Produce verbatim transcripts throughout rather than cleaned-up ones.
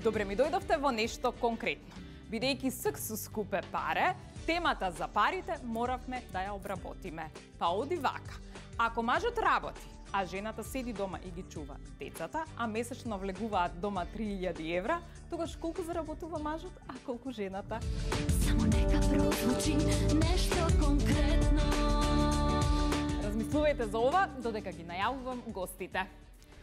Добре ми дојдовте во нешто конкретно. Бидејќи ск со скупе паре, темата за парите моравме да ја обработиме. Па оди вака. Ако мажот работи, а жената седи дома и ги чува децата, а месечно влегуваат дома три илјади евра, тогаш колку заработува мажот, а колку жената? Само нека прозвучи нешто конкретно. Размислувајте за ова, додека ги најавувам гостите.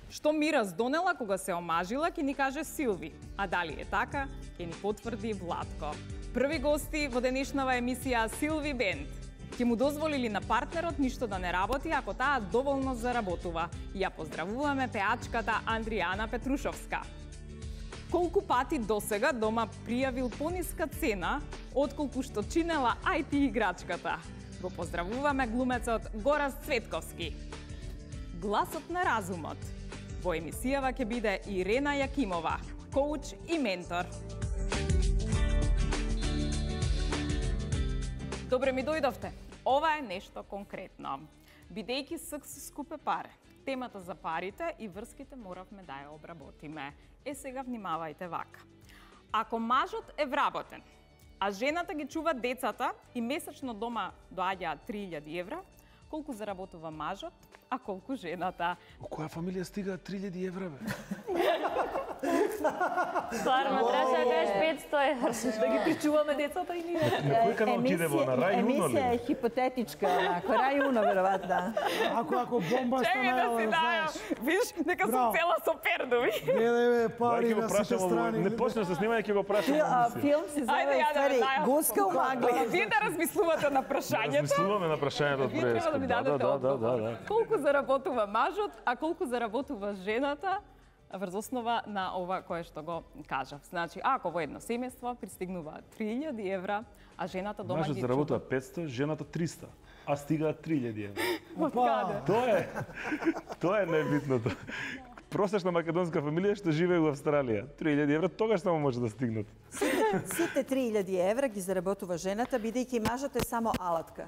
Што Мира здонела кога се омажила, ќе ни каже Силви. А дали е така, ќе ни потврди Владко. Први гости во денешнава емисија Силви Бенд. Ќе му дозволили на партнерот ништо да не работи ако таа доволно заработува. И ја поздравуваме пеачката Андријана Петрушовска. Колку пати досега дома пријавил пониска цена отколку што чинела ај ти играчката? Го поздравуваме глумецот Горас Цветковски. Гласот на разумот. Во емисијава ќе биде Ирена Јакимова, коуч и ментор. Добре ми дојдовте. Ова е нешто конкретно. Бидејќи ск со скупе паре, темата за парите и врските моравме да ја обработиме. Е, сега внимавајте вака. Ако мажот е вработен, а жената ги чува децата и месечно дома доаѓаат три илјади евра, колку заработува мажот, а колку жената? Во која фамилија стигаат три илјади евра, бе? Стварно, требаше да кажеш петсто евра. Да ги причуваме децата и ние. На кој канал ќе иде во на Рај Уно Емисија е ли? хипотетичка, онако, Рај Уно, веројатно, да. Ако ако бомба Чекај да стана, си знаеш. дајам. Виж, нека сум Браво. цела со пердови. Гледај бе, пари Ќе го на сите прашам, страни. не почна со снимање, ќе го прашам. Фил- а, Филм се Ајде, зове, ја да ствари, дајам. Гуска у магли. Вие да размислувате на прашањето. Размислуваме на прашањето од Вие треба да прескоп. ми Да, дадете да, да, одговор. да, да. Колку заработува мажот, а колку заработува жената врз основа на ова кое што го кажав. Значи, ако во едно семејство пристигнуваат три илјади евра, а жената дома Мажот ги заработува петсто, жената триста, а стигаат три илјади евра. Откаде? Тоа е, тоа е најбитното. Просечна македонска фамилија што живее во Австралија. три илјади евра тогаш само може да стигнат. Сите три илјади евра ги заработува жената, бидејќи мажот е само алатка.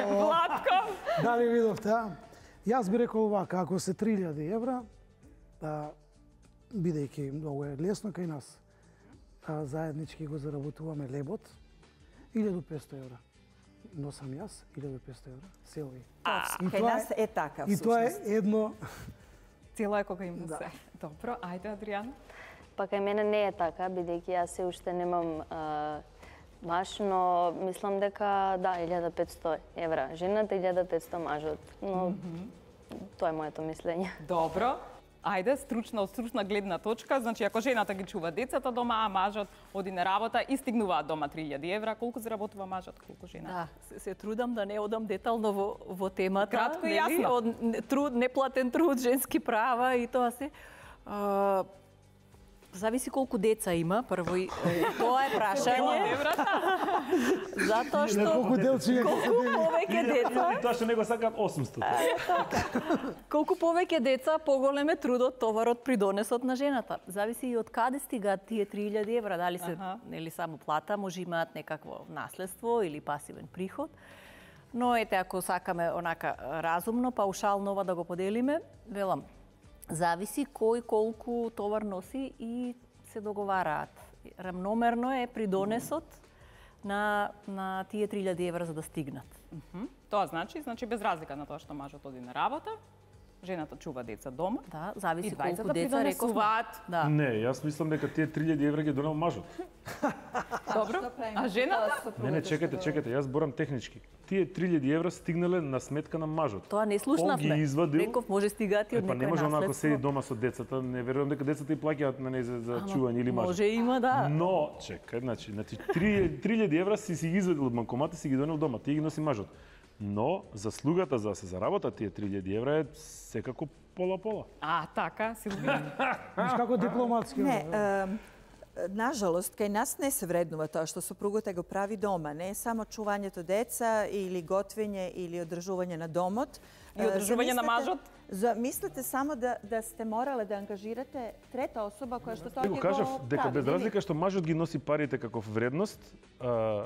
Владко! Дали видовте, а? Јас би рекол вака, ако се три илјади евра, а, бидејќи многу е лесно кај нас, а, заеднички го заработуваме лебот, илјаду и песто евра. Но сам јас, илјаду и песто евра, Силви. И Кај тоа нас е така, И тоа е всушност. едно... Цело е кога им Да. се. Добро, ајде, Адријан. Па кај мене не е така, бидејќи јас се уште немам а, маж, но мислам дека да, илјада и петсто евра. Жената илјада и петсто мажот. Но тоа е моето мислење. Добро. Ајде, стручна, од стручна гледна точка, значи ако жената ги чува децата дома, а мажот оди на работа и стигнуваат дома три илјади евра, колку заработува мажот, колку жената? Да. Се, се трудам да не одам детално во, во темата. Кратко и нели? јасно. Од не- труд, неплатен труд, женски права и тоа се. А, зависи колку деца има, прво и е, тоа е прашање. Затоа што Колку делци ќе се колку дели. повеќе деца, И тоа што него сакаат осумсто. колку повеќе деца, поголем е трудот, товарот, придонесот на жената. Зависи и од каде стигаат тие три илјади евра, дали се Аха. нели само плата, може имаат некакво наследство или пасивен приход. Но ете, ако сакаме онака разумно, паушално ова да го поделиме, велам, зависи кој колку товар носи и се договараат. Рамномерно е придонесот на, на тие три илјади евра за да стигнат. Тоа значи, значи без разлика на тоа што мажот оди на работа, жената чува деца дома. Да, зависи И двајцата колку деца рековме. придонесуваат. Да. Не, јас мислам дека тие три илјади евра ги донел мажот. Добро. А жената? Не, не, чекайте, чекайте, јас борам технички. Тие три илјади евра стигнале на сметка на мажот. Тоа не Он слушнавме. ги извадил. Реков може стигаат и од Е, па не некој може онако наследство. седи дома со децата, не верувам дека децата и плаќаат на неј за, за чување или мажот. Може има, да. Но, чекај, значи, значи три илјади евра си си ги извадил од банкомата, си ги донел дома, ти ги носи мажот. Но заслугата за да се заработат тие три илјади евра е секако пола-пола. А, така, Силви. Виж како дипломатски. Не, бе. е, нажалост, кај нас не се вреднува тоа што сопругата го прави дома. Не е само чувањето деца или готвење или одржување на домот. И одржување на Замислете- мажот? Замислете само да, да сте морале да ангажирате трета особа која што тоа Ти ќе го кажав го дека прави, без нели? разлика што мажот ги носи парите како вредност, а,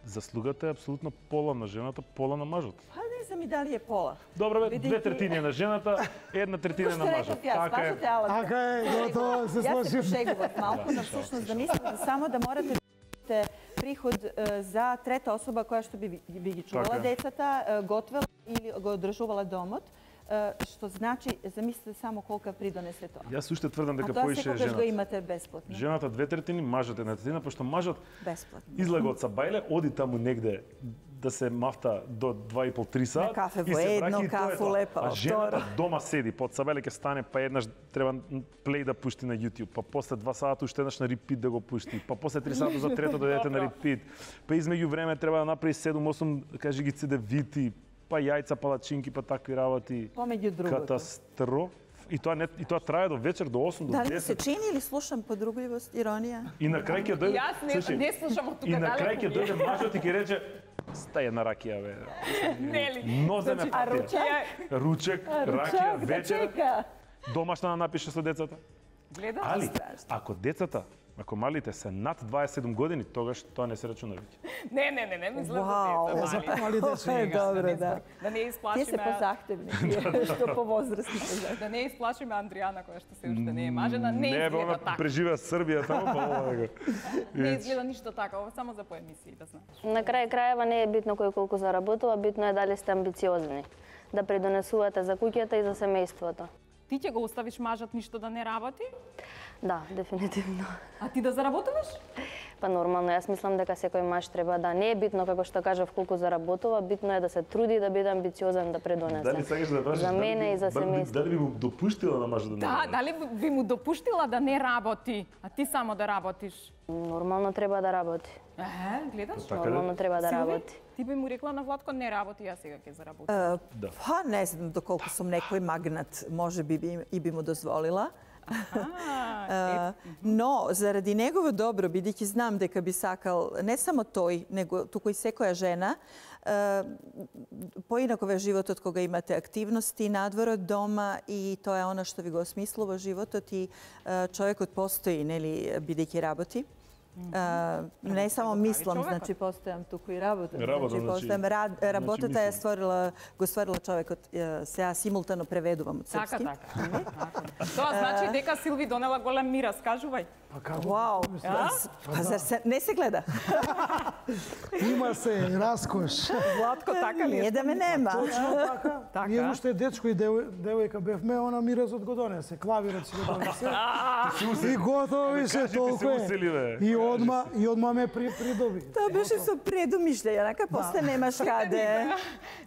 заслугата е апсолутно пола на жената, пола на мажот. Па не знам и дали е пола. Добро бе, Бидејќи- две третини е на жената, една третина е на мажот. Така е. Така е, готово, се Јас се сложив. пошегував малку, но всушност да мислам да само да морате да имате приход е, за трета особа која што би, би ги чувала Така е. децата, е, готвела или го одржувала домот, е, што значи, замислете само колка придонесе тоа. Јас уште тврдам А дека тоа поише секогаш го жената. имате бесплатно. Жената две третини, мажот една третина, пошто мажот Бесплатно. излага од Сабајле, оди таму негде да се мафта до два и пол три сат. На кафе и во се едно, враќа и тоа е кафу тоа. лепа А во жената второ. дома седи, под Сабајле ќе стане, па еднаш треба плей да пушти на YouTube, па после два сата уште еднаш на репит да го пушти, па после три сата за трето да дојдете на репит, па измеѓу време треба да направи седум осум, кажи ги цедевити, па јајца, палачинки, па такви работи. Помеѓу другото. Катастроф. И тоа не, и тоа трае до вечер до осум до Дали ми се десет. чини или слушам подрубливост, иронија? И на крај ќе дојде. Јас не, слушај, не слушам од тука И на далеку крај ќе ми е. дојде мажот и ќе рече стај една ракија бе. Нели? Нозе ме А патија. ручек? Ручек, ракија, Ручек, да вечер, чека. домашна да напише со децата. Гледаш? Али, ако децата, ако малите се над дваесет и седум години, тогаш тоа не се рачуна веќе. Не, не, не, не мислам Вау. за деца, мали. Мали деца. Е, добро, да. Да не Тие исплашиме, се позахтевни, тие што повозрастни позахтевни. да не исплашиме Андријана која што се уште не е мажена, не Не, бе, изгледа она така. преживеа Србија таму, па ова него. Не изгледа ништо така, ова само за по емисии, да знаеш. На крај крајева не е битно кој колку заработува, битно е дали сте амбициозни, да придонесувате за куќата и за семејството. Ти ќе го оставиш мажот ништо да не работи? Да, дефинитивно. А ти да заработуваш? Па нормално, јас мислам дека секој маж треба да не е битно како што кажав колку заработува, битно е да се труди да биде амбициозен да придонесе. Дали сакаш да прашаш За дали мене би- и за дали би- семејството. Дали би му допуштила на мажот да не Да, работи? дали би му допуштила да не работи, а ти само да работиш? Нормално треба да работи. Е, гледаш? Така Нормално треба да Силви, работи. ти би му рекла на Владко не работи, јас сега ќе заработам. Да. Па не знам доколку сум некој магнат, може би би, и би му дозволила. А, Uh, но заради негово добро, бидејќи знам дека би сакал не само тој, него туку и секоја жена, uh, поинако е животот кога имате активности надвор од дома и тоа е она што ви го осмислува животот и uh, човекот постои, нели, бидејќи работи. Uh, не само прави мислам, човекот. значи постојам туку и работам. Работам, значи, значи, постојам, рад, работата е мислам. створила, го створила човекот, uh, сега симултано преведувам од така, српски. така. Така. Тоа значи дека Силви донела голем мирас, кажувај. Па како? Вау, па зар се, не се гледа? Има се раскош. Владко така ли? Не да ме нема. Точно така. Така. Ние уште дечко и девој- девојка бевме, она миразот го донесе, клавирот си го донесе. И готово беше кажи, ти се толку е. усили, бе. И одма и одма ме при, придоби. Тоа беше со предумишљаја, нака после немаш каде.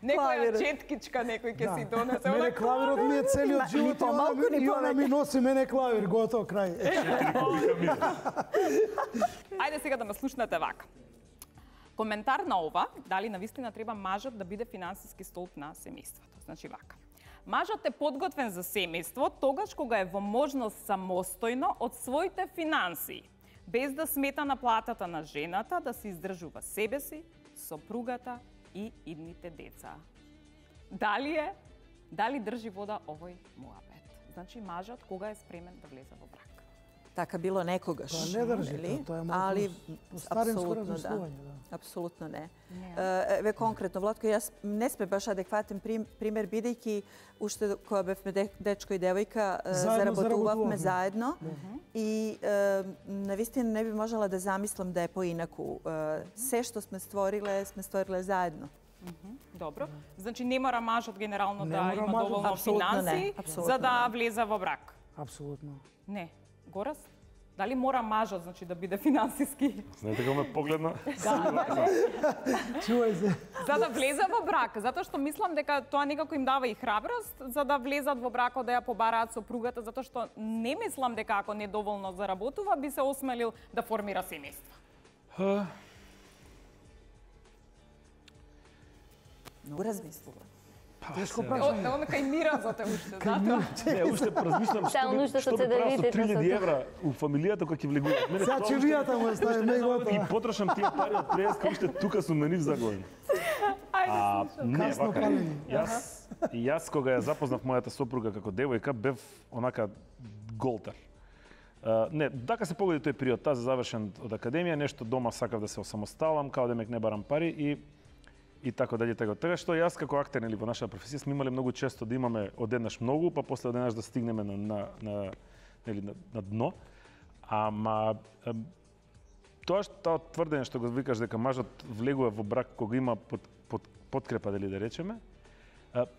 Некоја Клавирот. четкичка некој ќе си донесе. Мене Она клавирот ми е целиот Ни живот и она помалку, ми- ни и она ми повеќе. носи мене клавир, готово крај. Ајде сега да ме слушнете вака. Коментар на ова, дали навистина треба мажот да биде финансиски столб на семејството. Значи вака. Мажот е подготвен за семејство тогаш кога е во можност самостојно од своите финансии, без да смета на платата на жената да се издржува себе си, сопругата и идните деца. Дали е, дали држи вода овој муабет? Значи мажот кога е спремен да влезе во брак? Така било некогаш. Тоа не држи, нели? тоа- тоа е малку Али старинско апсолутно да. размислување, да. Апсолутно не. Е, Еве конкретно Владко, јас не сме баш адекватен прим- пример бидејќи уште кога бевме де- дечко и девојка е, Заедно заработувавме заработувавме. заедно и е, навистина не би можела да замислам да е поинаку. Е, Се што сме створиле, сме створиле заедно. Добро. Значи не мора мажот генерално Не да мора има мажот. доволно Апсолутно не, финанси апсолутно за да не. влезе во брак. Апсолутно. Не. Горас? Дали мора мажот значи да биде финансиски Знаете како ме погледна? Чувај се. за да влезе во брак, затоа што мислам дека тоа некако им дава и храброст за да влезат во бракот да ја побараат сопругата, затоа што не мислам дека ако недоволно заработува би се осмелил да формира семејство. Многу размислува. Тешко О, прашање. он кај миразот е уште, затоа. Не, уште размислам Таа што би, нушта што со би правил со цедевите, три илјади со- евра у фамилијата која ќе влегуваат. Мене Сега тоа ќе уште- вијата му уште ставиме не и знам да ги готово. потрошам тие пари од преска, уште тука сум на нив заглавен. А, не, Касно вака, палење. јас, јас кога ја запознав мојата сопруга како девојка, бев онака голтар. Uh, не, дака се погоди тој период, таа за завршен од академија, нешто дома сакав да се осамосталам, као демек не барам пари и и така дале така. Така што јас како актер нели во нашата професија сме имале многу често да имаме одеднаш многу, па после одеднаш да стигнеме на на на нели на, на дно. Ама тоа што тврдење што го викаш дека мажот влегува во брак кога има под, под подкрепа дали да речеме,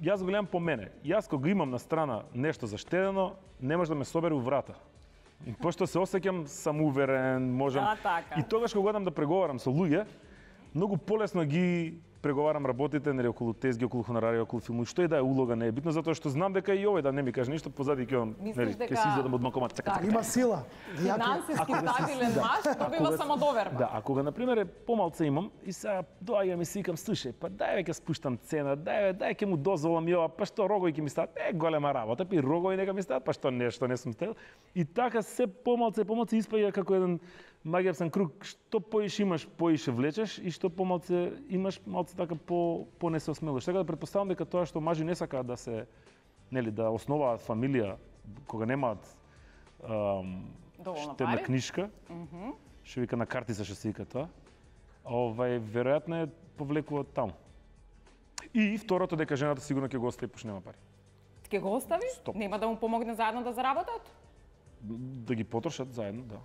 јас го гледам по мене. Јас кога имам на страна нешто заштедено, не може да ме собере у врата. И пошто се осеќам самоуверен, можам. Да, така. И тогаш кога одам да преговарам со луѓе, многу полесно ги преговарам работите, нели околу тезги, околу хонорари, околу филмови, што и да е улога не е битно, затоа што знам дека и овој да не ми каже ништо, позади ќе он, нели, ќе си изедам од макомат, цака, цака. Има сила. Финансиски стабилен маж добива самодоверба. Да, а кога на пример е помалце имам и сега доаѓам и си викам, слушај, па дај веќе спуштам цена, дај дај ќе му дозволам и ова, па што рогови ќе ми стават, е голема работа, пи рогови нека ми стават, па што нешто не сум стел. И така се помалце помалце испаѓа како еден магијавсен круг, што поише имаш, поише влечеш и што помалце имаш, малце така по по не се осмелуваш. Така да претпоставам дека тоа што мажи не сакаат да се нели да основаат фамилија кога немаат ам, штедна книшка. Mm-hmm. Што вика на картица што се вика тоа. Овај веројатно е повлекува таму. И второто дека жената сигурно ќе го остави пошто нема пари. Ќе го остави? Стоп. Нема да му помогне заедно да заработат? Да ги потрошат заедно, да.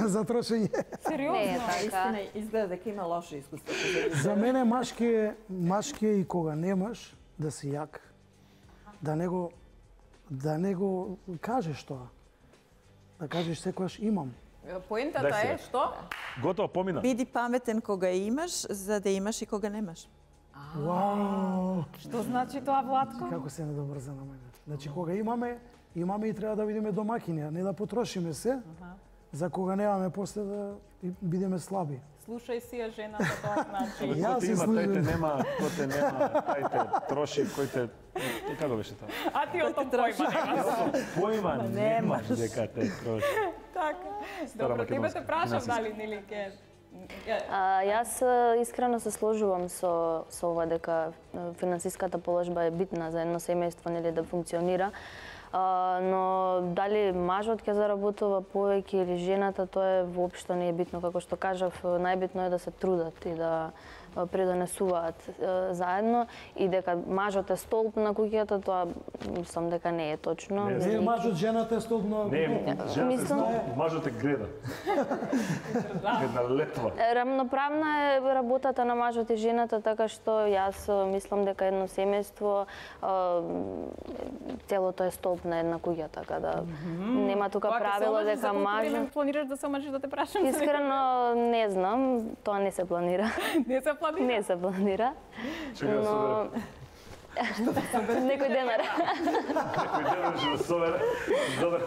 За трошење. Сериозно? Не е така. Истина, изгледа дека има лошо искуство. За мене машки е, машки е и кога немаш да си јак. Да не го да не го кажеш тоа. Да кажеш секогаш имам. Поентата Дај е сега. што? Готово, помина. Биди паметен кога имаш, за да имаш и кога немаш. Вау! Што значи тоа, Владко? Како се недобрза на мене. Значи кога имаме, имаме и треба да бидеме домакини, а не да потрошиме се. За кога немаме после да бидеме слаби. Слушај си ја жената тоа значи. Јас Кој те се има, служам. тај те нема, кој те нема, тај те троши, кој те... Како беше тоа? А ти о том појма немаш. Појма немаш дека те троши. Така. Стара Добро, тебе македонска, те прашам финансиска. дали нели ке А, јас а, искрено се сложувам со со ова дека а, финансиската положба е битна за едно семејство нели да функционира. А, но дали мажот ќе заработува повеќе или жената, тоа е воопшто не е битно, како што кажав, најбитно е да се трудат и да а, придонесуваат а, заедно и дека мажот е столб на куќата, тоа мислам дека не е точно. Не, Не е мажот, жената е столб на... Не, жената Мислам- е мажот е греда. Една летва. Рамноправна е работата на мажот и жената, така што јас а, мислам дека едно семејство а, целото е столб на една куќа, така да нема тука правило дека мажот... планираш да се омажиш да те прашам? Искрено не знам, тоа не се планира. Не се планира. Не се планира. Чека да Но собере. некој денар. Некој ден ќе да собере. Добре,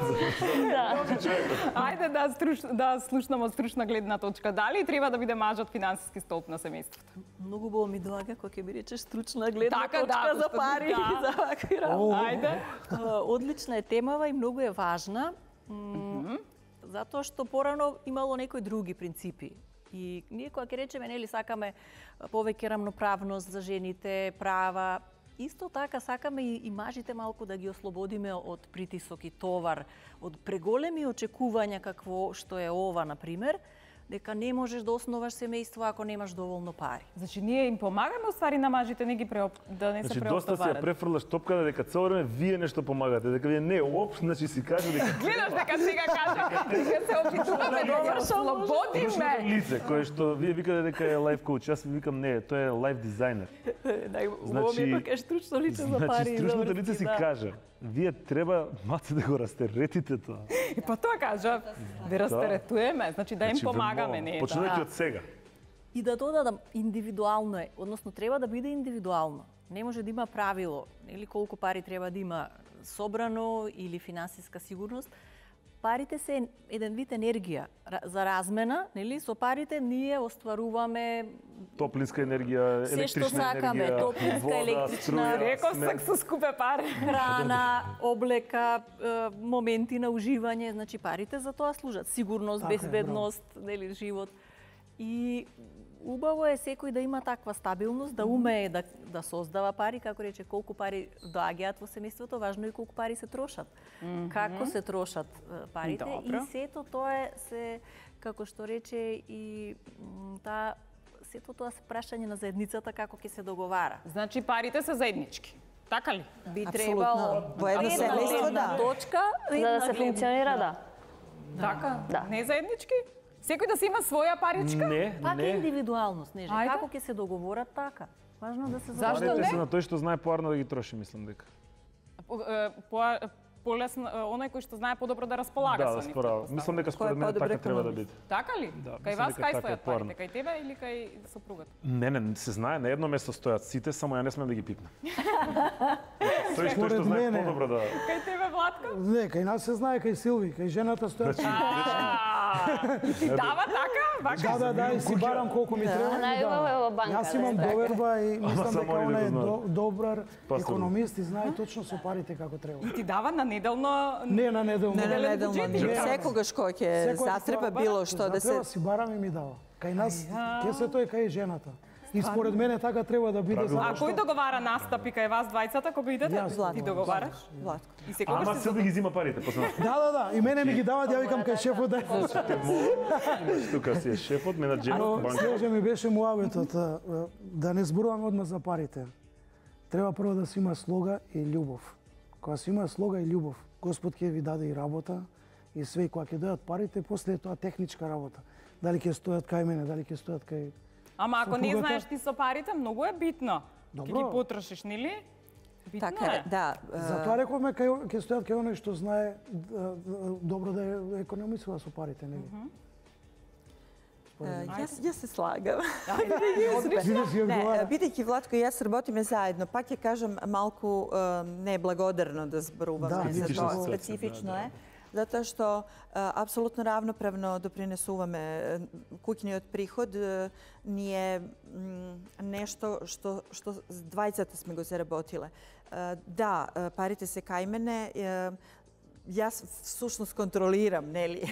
Да. човекот. Ајде да струш, да слушнемо стручна гледна точка. Дали треба да биде мажот финансиски столб на семејството? Многу убаво ми доаѓа кога ќе би речеш стручна гледна Така, да, точка за пошто- пари да. и за вакви работи. Ајде. А, Одлична е темава и многу е важна, м, затоа што порано имало некои други принципи. И ние кога ќе речеме, нели, сакаме повеќе рамноправност за жените, права, исто така сакаме и, и мажите малку да ги ослободиме од притисок и товар, од преголеми очекувања какво што е ова, на пример, дека не можеш да основаш семејство ако немаш доволно пари. Значи ние им помагаме уствари на мажите не ги преоп... да не се Значи доста се ја преоптоварат. префрлаш топката дека цело време вие нешто помагате, дека вие не опш, значи си каже дека Гледаш дека сега кажа, дека се опитуваме да ги ослободиме. Слушното лице кое што вие викате дека е лайф коуч, јас ви викам не, тоа е лайф дизајнер. Најубаво ми е кога кажеш стручно лице за пари. Значи и стручното за лице си врски, да. кажа, вие треба маце да го растеретите тоа. И па тоа кажа, да растеретуеме, значи да им Значи, ве помагаме, молам, не е почнете тоа. од сега. И да додадам, индивидуално е, односно треба да биде индивидуално. Не може да има правило, или колку пари треба да има собрано или финансиска сигурност. Парите се еден вид енергија ра- за размена, нели? Со парите ние остваруваме Топлинска енергија, Се што електрична сакаме, енергија, топлинска, вода, електрична. струја, Реков смет. сак со скупе пари. храна, облека, е, моменти на уживање, значи парите за тоа служат. Сигурност, Така е, безбедност, нели, живот. И убаво е секој да има таква стабилност, да умее да, да создава пари, како рече, колку пари доаѓаат во семејството, важно е колку пари се трошат. Mm -hmm. Како се трошат парите. Добро. И сето тоа е, се, како што рече, и таа сето тоа се прашање на заедницата како ќе се договара. Значи парите се заеднички. Така ли? Би требало во едно семејство, да. Точка, За да се функционира, да. Така? Да. Не заеднички? Секој да си има своја паричка? Не, Пак не. е индивидуалност, Снежа. Ајде. Како ќе се договорат така? Важно да се Зашто Парите не? се на тој што знае поарно да ги троши, мислам дека. По, е, по, полесно, оној кој што знае подобро да располага Да, со да, нив. спорав. Мислам дека според мене по-добре така треба да економист? биде. Така ли? Да, Кај мислам вас дека кај така е стојат поарно. парите? Кај тебе или кај сопругата? Не, не, се знае, на едно место стојат сите, само ја не смеам да ги пипнам. Тој што, Според што знае мене. подобро да... Кај тебе, Владко? Не, кај нас се знае, кај Силви, кај жената стојат. Значи, А, и ти дава така? Бака? Да, да, да, и си барам колку ми треба. Најубаво е во банка. Јас имам да. доверба и мислам само дека они она да е го до- добар Пасови. економист и знае точно со парите како треба. И ти дава на неделно... Не на неделно. Не, не, Неделен неделно, буџет не. или како? Секогаш кој ќе Секој затреба ќе било што да се... Затреба си барам и ми дава. Кај нас, ке се тој кај жената. И според мене така треба да биде. Правилно. А затоа кој договара настапи кај вас двајцата кога идете? Јас, Ти Златко. договараш? Владко. И секогаш Ама ти се да ги зима парите, после нас. Да, да, да. И мене ми ги дават, ја викам кај шефот да. Имаш тука си е шефот, менаџерот, банка. Снежа ми беше муаветот а, а, да не зборуваме одма за парите. Треба прво да се има слога и љубов. Кога се има слога и љубов, Господ ќе ви даде и работа и све, и кога ќе дојдат парите, после е тоа техничка работа. Дали ќе стојат кај мене, дали ќе стојат кај... Ама ако не сопругата? знаеш ти со парите, многу е битно. Ќе Добро. ги потрошиш, нели? Битно Така е. е, да. Затоа рековме кај ќе стојат кај оној што знае да, да, добро да е- економисува со парите, нели? Е, Јас, јас се слагам. Видиш ги Не, одговара. бидејќи Владко и јас работиме заедно, пак ќе кажам малку е, неблагодарно да зборуваме Да, за специфична тоа. ситуација, Специфично да, е. Затоа што е, апсолутно равноправно допринесуваме е, куќниот приход. Е, Ние м, нешто што што двајцата сме го заработиле. Е, Да, е, парите се кај мене. е, Јас всушност контролирам, нели,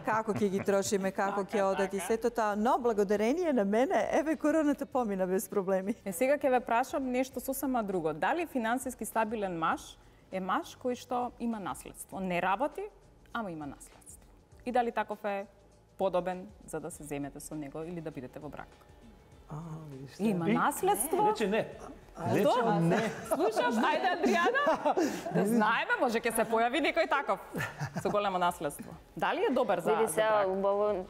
како ќе ги трошиме, како ќе одат и сето тоа, но благодарение на мене, еве короната помина без проблеми. Е, сега ќе ве прашам нешто сосема друго. Дали финансиски стабилен маж е маж кој што има наследство? Не работи, ама има наследство. И дали таков е подобен за да се земете со него или да бидете во брак? Има наследство? Рече не. Што? Не. Слушаш, ајде Адријана, да знаеме, може ќе се појави некој таков со големо наследство. Дали е добар за, Види за сега, брак? убаво,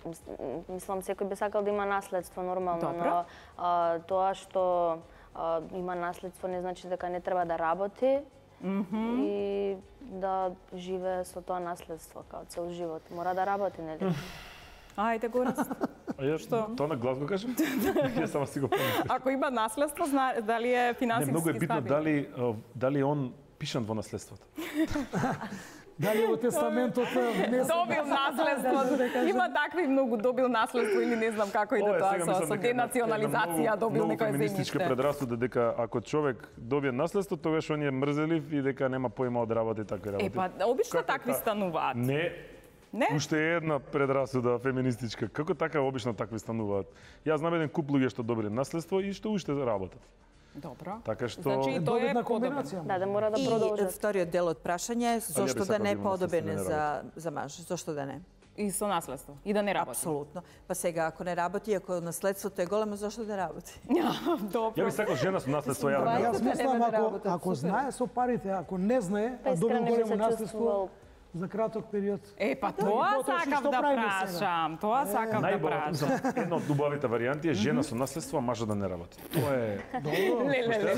мислам, секој би сакал да има наследство нормално, Добро. но а, тоа што а, има наследство не значи дека не треба да работи и да живее со тоа наследство као цел живот. Мора да работи, нели? Ајде Горец. А ја што? Тоа на глас го кажам? Ја само си го помислам. Ако има наследство, зна, дали е Не, финансиски многу е битно стабилен? дали а, дали он пишан во наследството. Дали во тестаментот не знам. Добил наследство. Има такви многу добил наследство или не знам како иде Ова е тоа сега, со, мислам со дека една- денационализација една добил многу некој феминистичка земјиште. предрасуда дека ако човек добие наследство, тогаш он е мрзелив и дека нема поима од работи такви работи. Е па обично Како такви та- стануваат. Не, Не? уште е една предрасуда феминистичка. Како така обично такви стануваат? Јас знам еден куп луѓе што добиле наследство и што уште работат. Добро. Така што Значи и тоа е Добитна подобен. комбинација. Да, да мора да И продолжат. вториот дел од прашање е зошто да сакал да не е имам наследство, подобен да не за, за маж, зошто да не? И со наследство. И да не работи. Апсолутно. Па сега, ако не работи, ако наследството е големо, зошто да работи? Добро. ја би сакал жена со наследство ја да не Јас работи. мислам, нема да ако, работат, ако супер. знае со парите, ако не знае, Па а добил искрено би големо се наследство чувствувал. за краток период. Е, па и тоа потроши, сакав што да правиме сега? прашам. Тоа сакав да Најбола, прашам. мислам, една од убавите варијанти е жена со наследство, а мажот да не работи. Тоа е... Ле, ле, ле.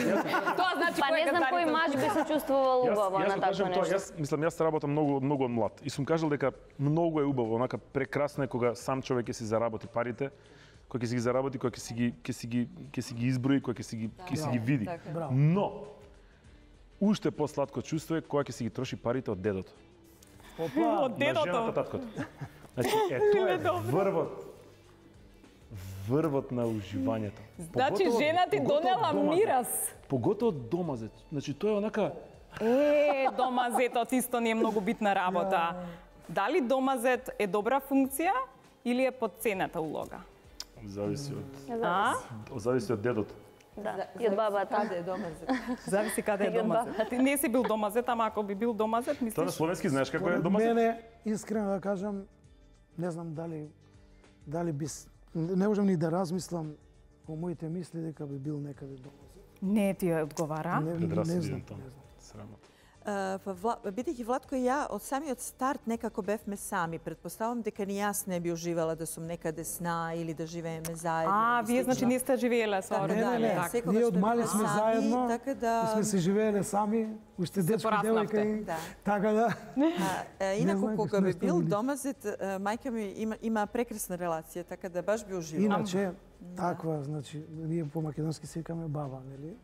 Тоа значи Па кој не е знам кој газдарите? маж би се чувствувал Јас, убаво јас на го такво кажам тоа, нешто. јас мислам јас работам многу многу од млад и сум кажал дека многу е убаво, онака прекрасно е кога сам човек ќе си заработи парите, кој ќе си ги заработи, кој ќе си ги ќе си ги ќе си ги изброи, кој ќе си ги ќе си ги види. Браво. Но уште посладко чувство е кога ќе си ги троши парите од дедото. Опа, Од На жената дедото. таткото. Значи, е тоа е врвот врвот на уживањето. Значи Поготово- жена ти поготово донела домазет. мирас. Поготово домазет. Значи тоа е онака Е, домазетот исто не е многу битна работа. Дали домазет е добра функција или е подцената улога? Зависи од А? зависи од дедото. Да, и од бабата. Каде е домазет? Зависи каде е И од домазет. Ти не си бил домазет, ама ако би бил домазет, Тоа на мислиш? словенски знаеш како е Според домазет? мене, искрено да кажам, не знам дали дали би с- не можам ни да размислам по моите мисли дека би бил некаде домазет. Не ти ја одговара. Не, не Предрасуди знам, тоа. не знам. Срамота. Uh, па Вла... бидејќи Владко и ја од самиот старт некако бевме сами. Предпоставам дека ни јас не би уживала да сум некаде сна или да живееме заедно. А, и вие значи слично. не сте живееле со Така, Не, родители. не, не. така. секогаш Ние од сме мали били сме сами, заедно, така да- и сме се живееле сами, уште дечки пораснавте. девојка и Да. така да. А, е, инаку знам кога што би сте бил били. домазет, е, мајка ми има, има прекрасна релација, така да баш би уживала. Иначе, таква, значи, ние по македонски се викаме баба, нели?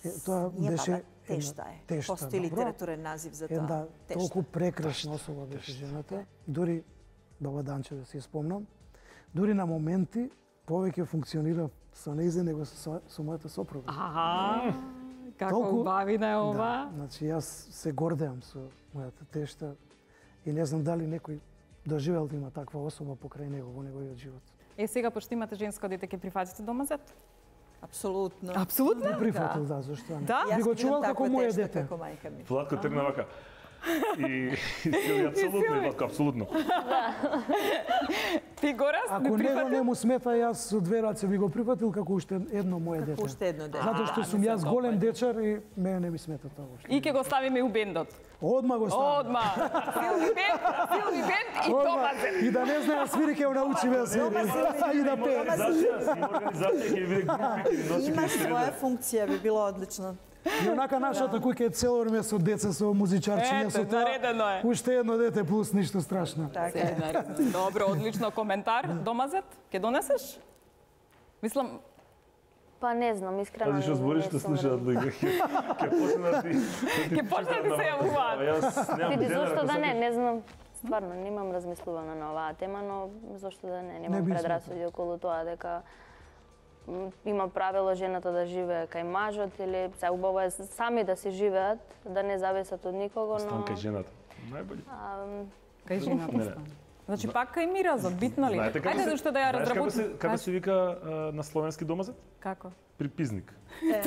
Е, тоа Ние беше баба, тешта е. тешта, Постои добро. литературен назив за тоа. Една Тешта. толку прекрасна особа беше жената. Дури баба Данче да си ја спомнам. Дури на моменти повеќе функционира со нејзе него со, со мојата сопруга. Аха, како Толку- убавина е ова. Да, значи јас се гордеам со мојата тешта и не знам дали некој доживел да има таква особа покрај него во неговиот живот. Е, сега пошто имате женско дете, ќе прифатите домазет? Апсолутно. Апсолутно. Би прифатил, да, зашто не? Да? Би Јас го ги чувал видам како таква моје тешта дете. Како мајка ми. Владко тргна вака. И, и Силви, апсолутно, и Владко, апсолутно. Ти Горас, Ако не него прифатил? не му смета, јас со две раце би го прифатил како уште едно моје дете. Како уште едно дете. Затоа што А, сум не се јас голем допаѓа. дечар и мене не ми смета тоа уште. И ќе го ставиме у бендот. Одма го ставам. Одма. Силви бенд, Силви бенд и Одма. домазет. И да не знае да свири, ќе го научиме да свири. И да пее. Организација, има организација ќе види групи, ќе носи Има ќе своја функција, би било одлично. И онака нашата куќа е цело време со деца, со музичарчиња, Ете, со тоа. наредено е. Уште едно дете плюс ништо страшно. Така е. Добро, одлично коментар. Домазет, ќе донесеш? Мислам, Па не знам, искрено. Пази што не- збориш не што сум слушаат луѓе. Ќе ќе почне да ти Ќе почне да ти се јавуваат. Јас немам Види, денар, зошто ако да не, сакаш. не знам. Стварно, немам размислувано на оваа тема, но зошто да не, Не немам би предрасуди околу тоа дека м, има правило жената да живее кај мажот или се убаво е сами да си живеат, да не зависат од никого, но Станка е жената. Најбоље. а, Кај жената Не, не. стана. Значи пак кај миразот, битно ли? Знаете како Ајде се- зашто да ја знаеш како се- разработим. Како се вика а, на словенски домазет? Како? Припизник. Не,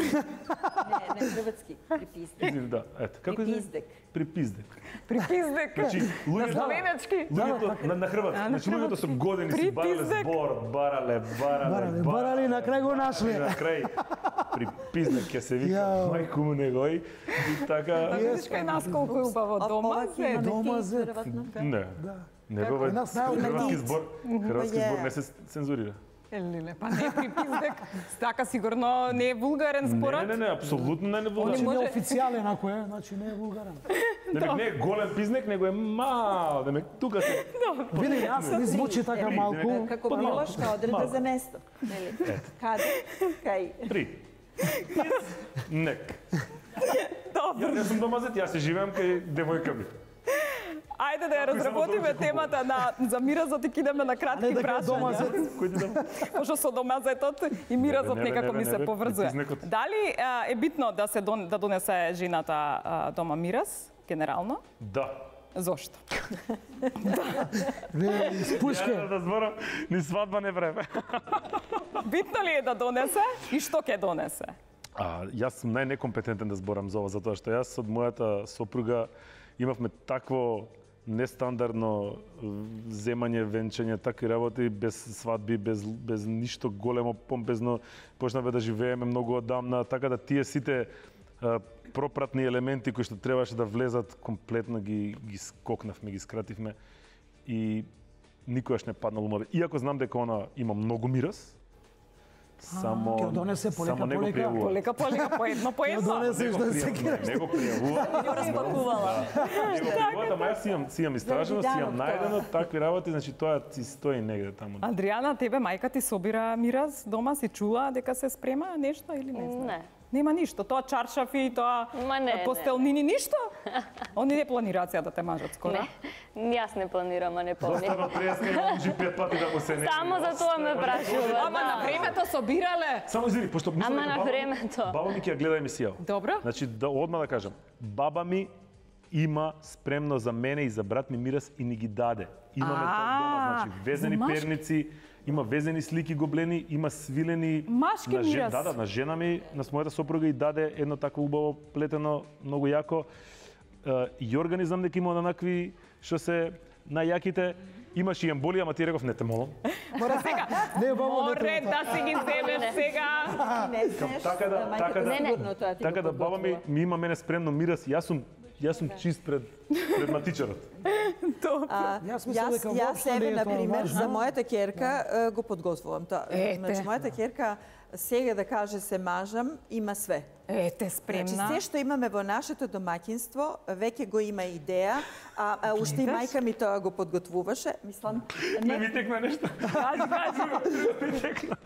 не хрватски, припиздек. Извини, да, ете. Како се? Припиздек. Припиздек. Припиздек. Значи, На луѓето словенечки. луѓето на, на хрватски, А, на значи луѓето со години си барале Припиздек. збор, барале, барале, Барале, барале и на крај го нашле. И на крај припиздек ќе се вика, Јао. мајку му негој. И така, Видиш кај нас колку е убаво дома. Ова ќе имаме Дома ти, зет. веројатно. Да. Да. негове Кај нас најавно хрватски има збор, хрватски Па збор е. не се цензурира. Елеле, па не припиздек. Така сигурно не е вулгарен Не, според. не, не, не, апсолутно не е Они вулгарен. Значи може- не официјален ако е, значи не е вулгарен. Демек не е голем пизнек, него е мал. Демек тука се Види, нас ми звучи така малку. Како Помалку. билошка одредба Малку. за место. Нели? Каде? Кај? три. Нек. Добро. Ја не сум домазет, јас се живеам кај девојка ми. Ајде да ја Како и само разработиме дојде темата на за миразот и кидаме на Не кратки дека е дома прашања. зет. Кој ти дам? Пошто со домазетот и миразот Не бе, не бе, некако не ми бе, се не бе, поврзува. припизнекот. Дали а, е битно да се дон, да донесе жената а, дома мираз, генерално? Да. Зошто? Не, испушке. Ја да зборам, ни свадба не време. Битно ли е да донесе и што ќе донесе? А, јас сум најнекомпетентен да зборам за ова, затоа што јас од мојата сопруга имавме такво нестандардно земање, венчање, такви работи, без свадби, без, без ништо големо, помпезно. Почнавме да живееме многу одамна, така да тие сите а, пропратни елементи кои што требаше да влезат, комплетно ги, ги скокнавме, ги скративме и никогаш не паднал умове. Иако знам дека она има многу мираз, само, Ќе донесе полека, само не го полека. пријавува. Полека, полека, по едно, по едно. донесеш да се пријавува, кираш. не го пријавува. Ја распакувала. Не го пријавува, ама јас си имам, си имам истражено, си имам Заради данок најдено такви работи, значи тоа си стои негде таму. Адријана, тебе мајка ти собира мираз дома, си чула дека се спрема нешто или не знам? Не. Нема ништо, тоа чаршафи, тоа Ма не, не. постелнини, ништо? Они не планираат да те мажат скоро. Не, јас не планирам, а не помним. Застава преска и може пет пати да му се не. Само за тоа ме прашува. Ама на времето собирале. Само извини, пошто мислам Ама дека на баба ми- времето. Баба ми ќе ја гледа емисија. Добро. Значи да одма да кажам, баба ми има спремно за мене и за брат ми мирас и ни ги даде. Имаме тоа дома, значи везени за машки? перници, има везени слики гоблени, има свилени Машки на жен, мирас. да, да, на жена ми, на мојата сопруга и даде едно такво убаво плетено, многу јако. Е, Јорган знам дека има онакви што се најјаките. Имаш и емболија, ама ти реков не те молам. Мора сега. Не, баба, не Море треба да си ги земеш сега. Не знаеш, Така да, мајката така да, сигурно тоа ти така го да баба ми, подготвува. ми има мене спремно мирас, јас сум јас сум чист пред пред матичарот. А, Јас мислам јас, дека јас воопшто не себе, е тоа например, важно. за мојата ќерка е, го подготвувам тоа. Ете. Значи, мојата ќерка сега да каже се мажам, има све. Ете, Значи, спремна. се што имаме во нашето домаќинство, веќе го има идеја, а, а уште и Гледаш? мајка ми тоа го подготвуваше. Мислам, Не ми текна нешто. Кажи, кажи. Ми текна.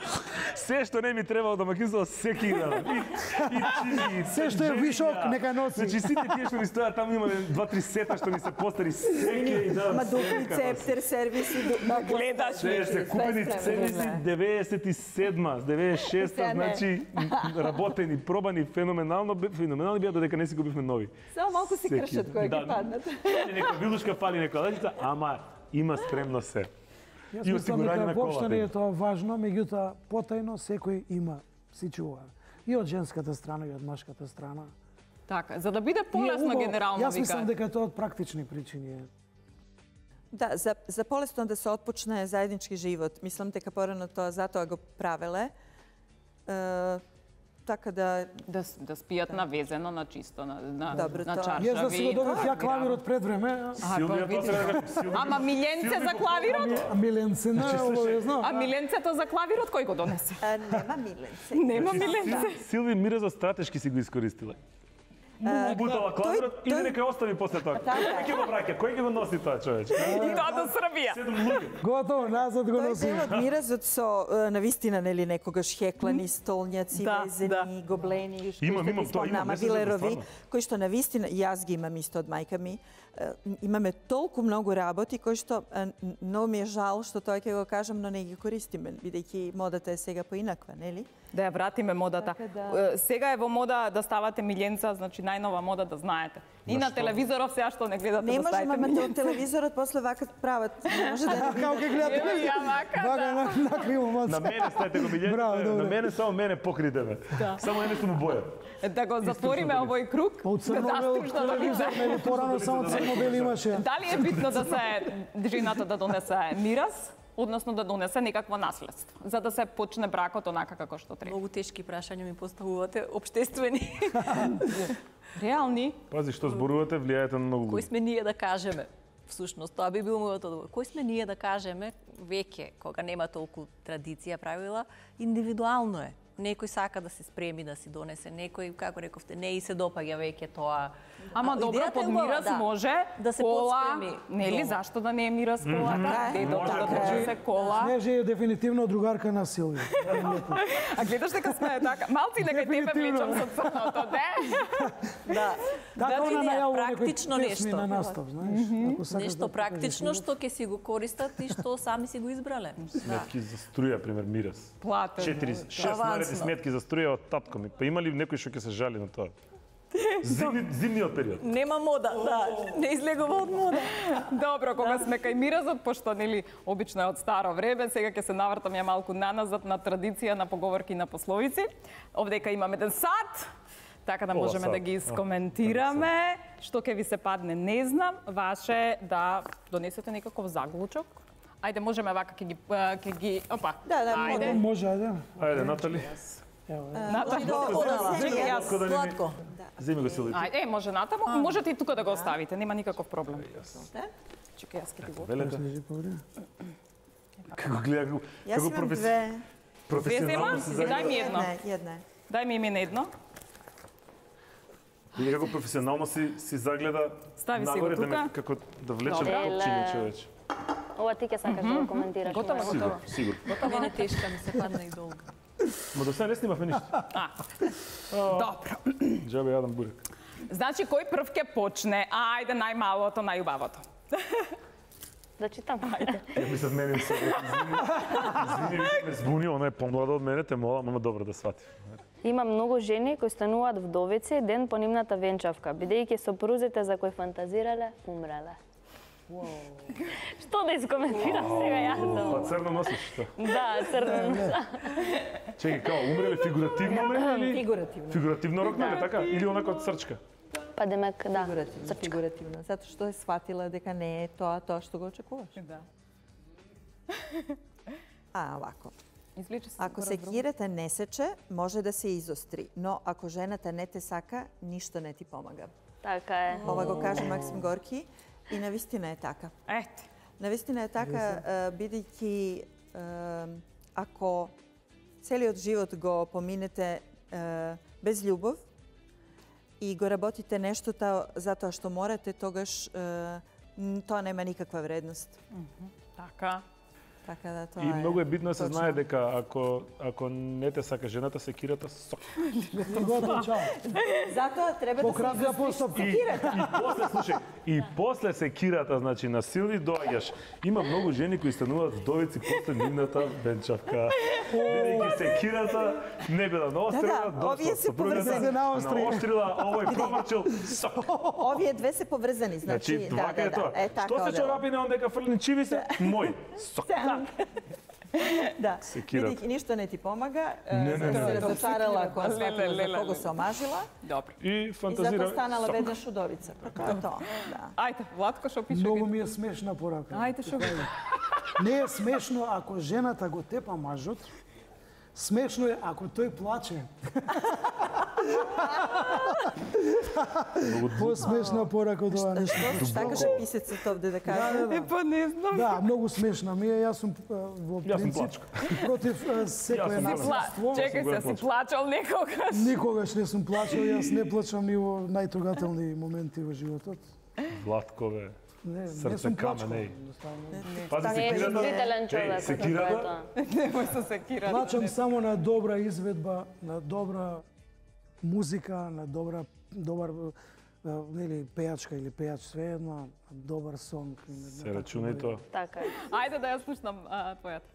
Се што не ми требало да макинство, се кидам. И, и чини, и Се што е женија. вишок, нека носи. Значи сите тие што ми стојат таму имаме два-три сета што ми се постари, секи и да. ма дупли цептер, сервиси, ду- гледаш. Се се купени цениси деветдесет и седма, деветдесет и шеста, Сега не. значи работени, пробани, феноменално, бе- феноменални беа додека не си купивме нови. Само малку си Секи. кршат кои Да. ги паднат. Нека вилушка фали нека лајчица, ама има спремно се. Јас И мислам осигурање дека на воопшто не е колата. тоа важно, меѓутоа потајно секој има, си чува. И од женската страна и од машката страна. Така, за да биде И е полесно убаво. генерално Јас мислам вика. дека тоа од практични причини е. Да, за, за полесно да се отпочне заеднички живот. Мислам дека порано тоа затоа го правеле. Е, така да Да, с- да спијат навезено, на чисто, на, на, Добро, на тоа. чаршави. Јас да си го добив ја Мирано. клавирот пред време, А, па Силвија види. тоа сега како Силвија. Ама Миленце за клавирот? а Миленце не е обавезно. А Миленцето за клавирот кој го донесе? а, нема миленце. Нема Миленце. Силви мира за стратешки си го искористила. Му бутала клавирот и тој- нека ја остави после тоа. Така. Кој ќе го враќа? Кој ќе го носи тоа човече? И тоа до Србија. Седум луѓе. Готово, назад го Тој носи. дел од миразот со е, навистина нели некогаш хеклани столњаци, Да, везени, да. гоблени, кои Имам, што имам ги тоа, имам, спомнама, не се знам, вилерови, стварно. кои што навистина и јас ги имам исто од мајка ми. Е, Имаме толку многу работи кои што е, многу ми е жал што тоа ќе го кажам, но не ги користиме, бидејќи модата е сега поинаква, нели? Да ја вратиме модата. Така да. Е, Сега е во мода да ставате миленца, значи најнова мода да знаете. И на телевизоров сега што не гледате Не да може, ставите мама, миленца. од телевизорот после вака прават. Не може да не Како ќе гледате? Ево ја вака, Вака да. на, на криво На маца. мене ставите го Браво, милјете, добре. на мене само мене покрите ме. Само едно сум боја. Да го затвориме овој круг. Па од црно-бел да телевизор, нели порано само црно-бел имаше. Дали е битно да се жената да донесе мирас, односно да донесе некакво наследство, за да се почне бракот онака како што треба? Многу тешки прашања ми поставувате, обштествени. Реални? Пази што зборувате, влијаете на многу Кој луѓе. сме ние да кажеме? Всушност, тоа би бил мојот одговор. Кој сме ние да кажеме, веќе, кога нема толку традиција, правила, индивидуално е. Некој сака да се спреми да си донесе, некој, како рековте, не и се допаѓа веќе тоа. Ама А, добро, идејата под е убава, мирас да. може Да се кола, подспреми нели, дома. зашто да не е мирас колата, Така е. дедото Може, да може. донесе кола. Снежи е дефинитивно другарка на Силвија. А гледаш дека сме така, малци дека и тебе Дефинитивно. влечам со црното, де? Да. Така Да, она идеја, најавува некои практично песми нешто. на настап, знаеш. Ако сакаш Нешто да покажеш практично љубов. што ќе си го користат и што сами си го избрале. Сметки за струја, пример, мирас. Платен. Четири, шест Авансно. наредни сметки за струја од татко ми. Па има ли некој што ќе се жали на тоа? Зимни, зимниот период. Нема мода, да, не излегува од мода. Добро, кога сме кај миразот, пошто нели обично е од старо време, сега ќе се навртам ја малку наназад на традиција, на поговорки и на пословици. Овдека имаме еден сад, така да Пола можеме сад. да ги искоментираме. Што ќе ви се падне, не знам. Ваше е да донесете некаков заклучок. Ајде, можеме вака ќе ги а, ќе ги опа. Да, да, ајде. Може, ајде. Ајде, Натали, Натаму. Чекај, јас. Сладко да ни- Сладко. земи го Силви. Ајде, е, може натаму, можете и тука да го оставите, нема никаков проблем. Чекај, јас ќе ти го. Велете, Снежи повреди. како гледа, како, Јас како имам професи... две. професионално Две се зема? Дај ми загледа. едно. Една, една. Дај ми име едно. Види како професионално си си загледа Стави си го нагоре да ме тука. како да влечем Добре. копчиња човече. Ова ти ќе сакаш да го коментираш. Готово, мојот. Сигурно, сигурно. Мене тешка ми се падна и долга. Ма до сега не снимавме ништо. Добро. Џабе јадам бурек. Значи, кој прв ќе почне? Ајде, најмалото, најубавото. Да читам. Ја мислев мене се извини. Извини, ме збуни, она е помлада од мене, те молам, ама добро да свати. Има многу жени кои стануваат вдовици ден по нивната венчавка, бидејќи сопрузите за кои фантазирале умреле. Што да искоментирам сега јас? Па црно носиш, што? Да, црно носа. Чекај, као, умреле фигуративно ме или? Фигуративно. Фигуративно рокнале, така? Или онака од срчка? Па демек, да. Фигуративно, фигуративно, затоа што е сватила дека не е тоа тоа што го очекуваш. Да. А, овако. Извлече се. Ако секирата не сече, може да се изостри, но ако жената не те сака, ништо не ти помага. Така е. Ова го каже Максим Горки и навистина е така. Ете. Навистина е така, бидејќи ако целиот живот го поминете без љубов и го работите нештото затоа што морате, тогаш тоа нема никаква вредност. Така. Така да тоа И е. многу е битно да се точно. знае дека ако ако не те сака жената, секирата сок. Готово, чао. Затоа треба да се Пократка изостриш постапка. И, и после, слушај, и после секирата, значи на Силви доаѓаш. Има многу жени кои стануваат вдовици после нивната венчавка. Бидејќи секирата не била наострила, Да, да, овие се поврзани. наострила, овој промрчил, сок. Овие две се поврзани, значи, Значи, да, вака да, е тоа. да. Е така. Што се одела. чорапи на дека фрлин чиви се? Мој. Сок. Да, Секират. бидејќи ништо не ти помага, Не, не, не, не. се разочарала кога Леле, сватила за леле, кого леле. се омажила Добро. И и фантазира. затоа станала сок. веднаш удовица. Па тоа е тоа, да. Ајде, Владко, што пише? Многу ми е смешна порака. Ајде, што пише? Не е смешно ако жената го тепа мажот, смешно е ако тој плаче. По-смешна порака од ова нешто. Што каже писецот овде да каже? Да, да, да. Па не знам. Да, многу смешна ми е. Јас сум а, во Јас сум принцип против а, секое Јас сум насилство. Чекај се, си плачал некогаш. Никогаш не сум плачал, јас не плачам и во најтрогателни моменти во животот. Владкове. Не, не Срце сум плачкал. камен, еј. едноставно. Пази Не е секирата. чувствителен Еј, човек, како е секирата. тоа. Немој се секирати. Плачам само на добра изведба, на добра музика, на добра добар а, нели пејачка или пејач svejedно, добар сонг. Се рачунај тоа. Така е. Ајде да ја слушнам а, твојата.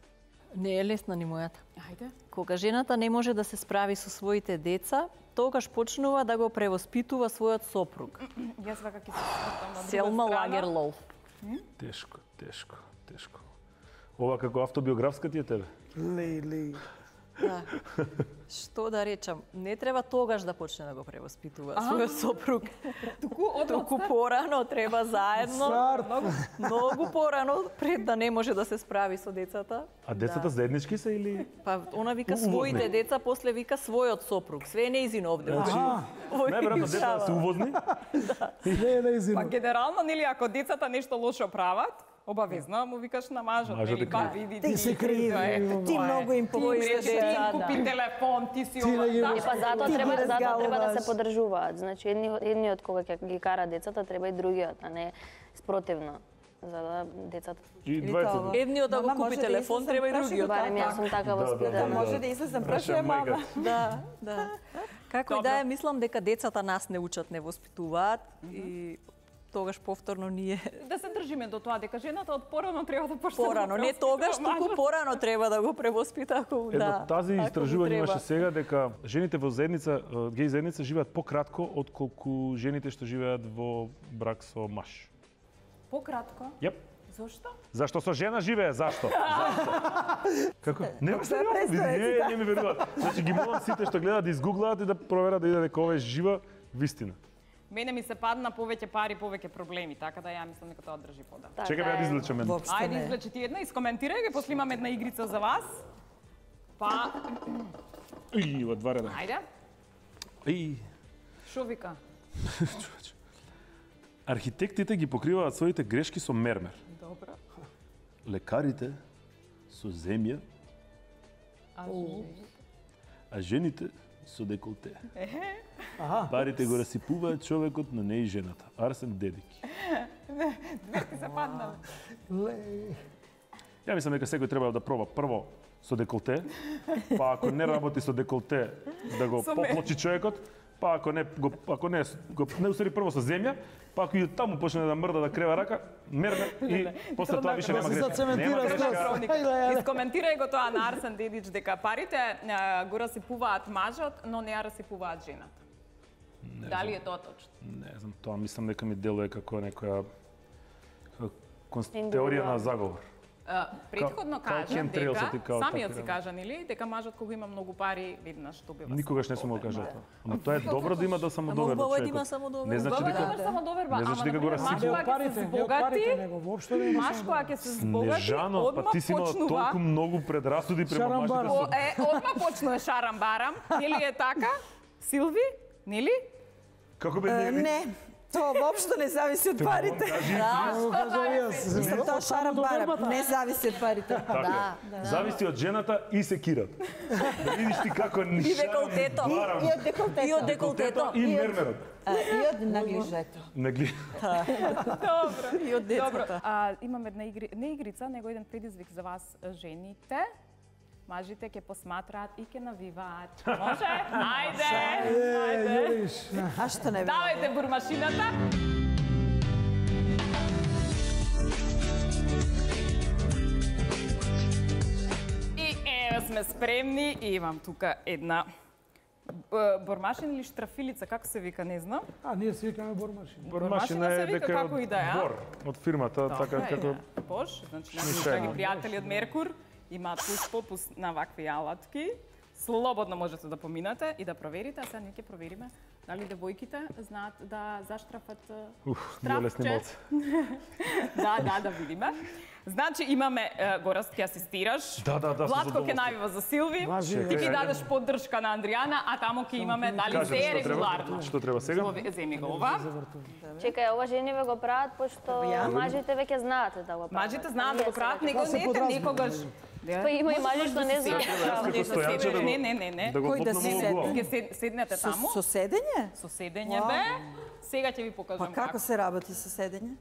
Не е лесна ни мојата. Ајде. Кога жената не може да се справи со своите деца, тогаш почнува да го превоспитува својот сопруг. Јас вака ќе се свртам на друга Селма страна. Лагерлов. Тешко, тешко, тешко. Ова како автобиографска ти е тебе? Леј, леј. Да. Што да речам, не треба тогаш да почне да го превоспитува својот сопруг. Туку од Туку порано треба заедно, Старт. многу, многу порано пред да не може да се справи со децата. А децата заеднички се или? Па она вика Увозни. своите деца, после вика својот сопруг. Све е неизин овде. Аха, Овој Најверојатно децата се увозни? не, не, Па извини. генерално, нели, ако децата нешто лошо прават, обавезно му викаш на мажот, Мажот нели, е па крив. види Ти си крив, ето, Ти тоа е. многу им Ти повоиш речи, деца, ти да. купи телефон, ти си Ти ова, не ги да. можеш. Па затоа Ти ги треба, затоа треба да разгалуваш. се подржуваат. Значи едни, едниот кога ќе ги кара децата, треба и другиот, а не спротивно. За да децата... И Или двајца. тоа. Едниот да го Мама, купи може да телефон, излезам треба и праши другиот. го Барем јас така? сум така Да, да, воспитана. да. Може да излезам, Праша прашува мама. мајката. Да, да. Како и Добро. да е, мислам дека децата нас не учат, не воспитуваат и тогаш повторно ние Да се држиме до тоа дека жената од порано треба да почне да порано, го не тогаш, превоспитува туку мажот. порано треба да го превоспита ако Едно, да. тази ако му истражување треба. имаше сега дека жените во заедница, е, геј заедница живеат пократко отколку жените што живеат во брак со маж. Пократко. Јеп. Зошто? Зашто со жена живее? Зашто? Зашто? Како? Не ме сериозно, види, не, не ми веруваат. Значи ги молам сите што гледаат да изгуглаат и да проверат да иде дека ова е жива вистина. Мене ми се падна повеќе пари, повеќе проблеми, така да ја мислам дека тоа држи пода. Така Чекај ја да е. извлечам едно. Воопшто Ајде, не. извлечи ти една, искоментирај ги, после имам една игрица за вас. Па, И, во два реда. ајде, И, шо вика? човече. Архитектите ги покриваат своите грешки со мермер. Добро. Лекарите со земја, а жените со деколте. Аха. Парите го расипуваат човекот, но не и жената. Арсен Дедики. Ти се паднале. Леј. Ја мислам дека секој треба да проба прво со деколте, па ако не работи со деколте, да го Со мер. поплочи човекот, па ако не го ако не го не усари прво со земја, па ако и таму почне да мрда да крева рака, мерне и после тоа више нема грешка. Нема грешка. Искоментирај го тоа на Арсен Дедич дека парите го расипуваат мажот, но не ја расипуваат жената. Дали е тоа точно? Не знам, тоа мислам дека ми делува како некоја теорија на заговор. Претходно Као- кажа chemtrails ти дека, као самиот така, си кажа, нели, дека мажот кога има многу пари, веднаш добива. Никогаш не сум го кажал тоа. Ама тоа е добро да има да самодоверба убаво е да човекот. има самодоверба. Не значи Убаво е да дека имаш самодоверба, не значи ама дека го например, маж расипува. кога ќе се збогати, него воопшто не има. маж кога ќе се збогати, Нежано, па одма ти си имала почнува. толку многу предрасуди према мажите. Шарамбара. со- О, е, одма почнува шарам барам, нели е така? Силви, нели? Како бе Е, не? Не, тоа воопшто не зависи од парите. Го кажам јас. Мислам, тоа шарам барам, не зависи од парите. Така е. Зависи од жената и секират. Да видиш ти како ни И шарам деколтето. барам. И од деколтето. И од деколтето. И мермерот. А, и од наглижето. Не гли. Добро. И од Добро. децата. А, имам една игри, не игрица, него еден предизвик за вас, жените. Мажите ќе посматраат и ќе навиваат. Може? Ајде! Ајде! Јуриш. А што не би? Давајте бурмашината. И еве сме спремни и имам тука една б- бормашин или штрафилица, како се вика, не знам. А, ние се викаме бормашин. Бормашина се е вика дека како и да е, а? Бор од фирмата, така Добре, како е, Бош, значи наши Мишајло. драги пријатели од Меркур имаат пус попус на вакви алатки. Слободно можете да поминате и да проверите, а сега ние ќе провериме дали девојките знаат да заштрафат уф, ние лесни штрафче. малце. Да, да, да видиме. Значи имаме е, Гораст ќе асистираш. Да, да, да, со Владко ќе задоволство. навива за Силви. Важи, Ти ќе Чекај, дадеш поддршка на Андријана, а таму ќе имаме дали Кажете се е што треба. регуларно. Што треба сега? Зови- Земи го ова. Чекај, ова жениве го прават, пошто Ја? мажите веќе знаат да го прават. Мажите знаат да го Ние прават, сега- него се не ете подразбира, никогаш. Па има и мажи што не знаат. Јас како стојанче да го Не, не, не, не. да го Кој да лопнам си во седне? глава. Ќе сед- седнете Со, таму, со седење? со седење Вау. бе. Сега ќе ви Па покажам како се работи со седење?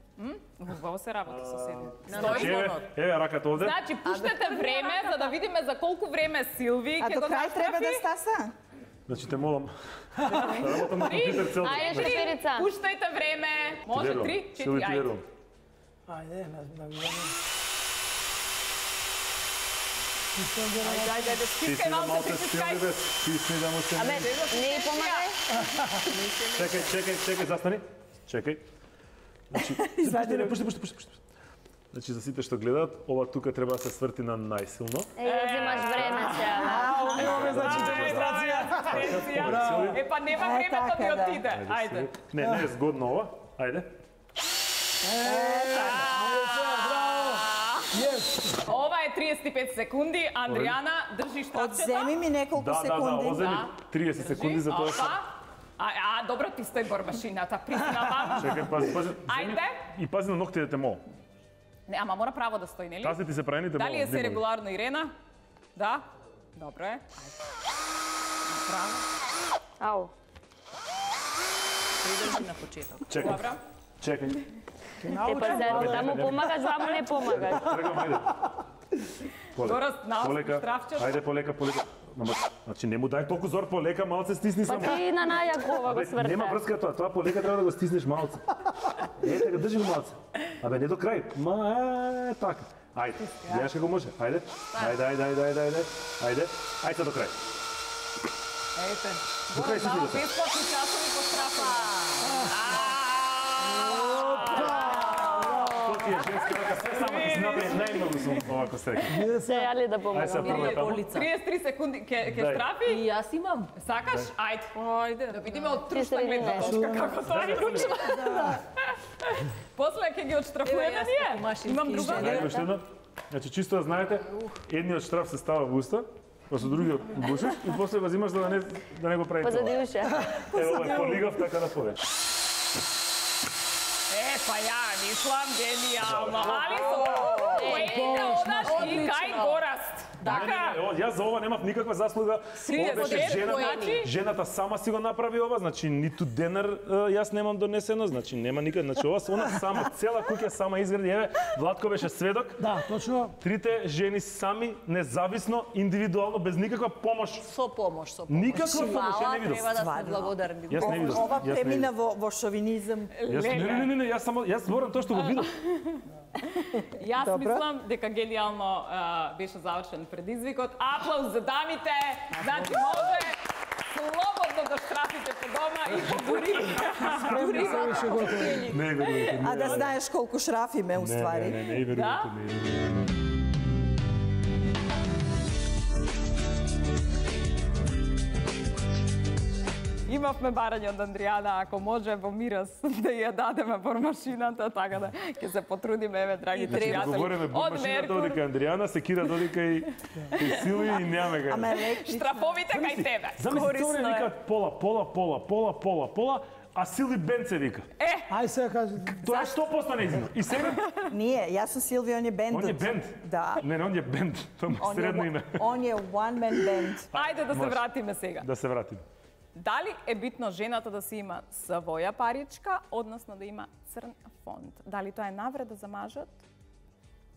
Убаво се работи со седење. Значи, еве, еве раката овде. Значи, пуштете време за да видиме за колку време Силви А ќе до го крај треба да заштрафи. стаса? Значи те молам. Да работам на компјутер цел ден. Ајде, Значи, шеферица. Пуштајте време. Може верувам. три, Силви, четири, ти ајде. верувам. Ајде, на на Ајде, ајде, ајде, Ти си стискај на малце, малце притискај. стилни бе. Ти си да му се. Абе, не и помагај. Чекај, чекај, чекај, застани. Чекај. Значи, пушти, не, пушти, пушти, пушти, пушти. Значи, за сите што гледаат, ова тука треба да се сврти на најсилно. Е, ја земаш време сега. Имаме значи демонстрација. Демонстрација. Е, па нема Е, време да така, ми да. отиде. Ајде. Не, не е згодно ова. Ајде. Ова е триесет и пет секунди. Андријана, држи штрафчето. Одземи ми неколку Да, да, да, секунди. оземи триесет секунди за тоа што... Опа. А, а, добро ти стои бормашината, признавам. Чекај, пази, пази. Ајде. И пази на ноктите те мол. Не, ама мора право да стои, нели? Тази ти се праените мол. Дали е се регуларно, Ирена? Да? Добро е. Ајде. Право. Ау. Придржи на почеток. Чекај, Добро. чекај. Те па за таму помагаш, ваму не помагаш. Трегам, ајде. Полека. Гораст, наосно, Полека. штрафчето. Ајде, полека, полека. Ама, значи, не му дај толку зор, полека, малце стисни Па само. ти на најакова го Абе, нема сврта. врска тоа, тоа полека треба да го стиснеш малце. Е, така, држи го малце. Абе, не до крај. Ма, е, така. Ајде, гледаш како може. Ајде. Ајде, ајде, ајде, ајде, ајде. Ајде. Ајде до крај. Ете. До крај Гораст, си дава ти бесплатни часови по штрафа. Тоа ти е женски рака, се само ти си направи најмногу сум овако среќен. Се јали да Ајде се помагам. прво таму. триесет и три секунди ќе ќе Дај. штрафи. И јас имам. Сакаш? Ајде. Ајде. Да видиме од трушна средина. гледна точка како тоа е клучно. После ќе ги отштрафуваме Еве, јас ние. како машински Имам друга. инженер. Ајде, уште една. Значи, чисто да знаете, едниот штраф се става во уста, па со другиот го бушиш и после го взимаш за да не, да не го прави Позади тоа. уша. Ево, ова е полигав, така да повеш. Е, па ја мислам генијално. Али со поените одаш и кај Гораст. Така. Не, не, не, јас за ова немав никаква заслуга. Силе, Ова беше дед, жената, значи? жената сама си го направи ова, значи ниту денар е, јас немам донесено, значи нема никад, значи ова она сама, цела куќа сама изгради. Еве, Владко беше сведок. Да, точно. Трите жени сами, независно, индивидуално, без никаква помош. Со помош, со помош. Никаква помош, ја не видов. Треба да сме Стварно. благодарни. Јас не видов. Ова Јас не премина видов. во, во шовинизам. Јас не, не, не, не, јас само јас зборам тоа што го видов. Јас Добро. мислам дека генијално а, беше завршен предизвикот. Аплауз за дамите. Значи може слободно да штрафите по дома и дури дури Се беше готово. Не верувате. А да знаеш колку шрафи ме, Не, уствари. не, не, не верувате, Да? не верувате. Имавме барање од Андријана, ако може во мирас да ја дадеме бормашината, така да ќе се потрудиме, еве, драги Значи, пријатели. говориме Од бормашината Меркур, додека Андријана, секира додека и, и Силви и нямаме га. Ама електрично. штрафовите кај тебе. Замисли, Корисно тоа е. викаат пола, пола, пола, пола, пола, пола, а Силви Бенце вика. Ај сега кажи. Тоа е сто проценти неизино. И сега, Nije, ja sam Silvija, on je bend. он е бенд. Da. Не, не, он е бенд. Тоа му е On средно je, име. on je one man band. Ајде да се Може. вратиме сега. Да се вратиме. Дали е битно жената да си има своја паричка, односно да има црн фонд? Дали тоа е навреда за мажот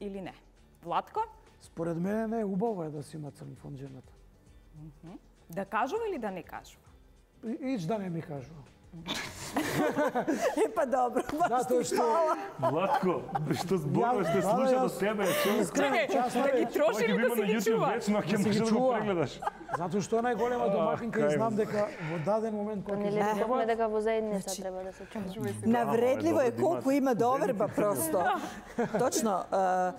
или не? Владко, Според мене не е убаво е да си има црн фонд жената. да кажува или да не кажува? И- Ич да не ми кажува. E pa dobro, baš Zato ti što- hvala. Владко, што зборуваш, Ја- што да, слуша јас- до тебе, човек. Чекај, Часно да е. ги троши Ова ќе или го да има си на ги YouTube чува? вечно, ќе Да си можеш ги да го чува. прегледаш. Затоа што е најголема домакинка и кај знам вас. дека во даден момент кога ќе Нели се рековме ебат, дека во заедница треба да се чува. Navredljivo je dobro, koliko ima- ima dovrba prosto. Točno, uh,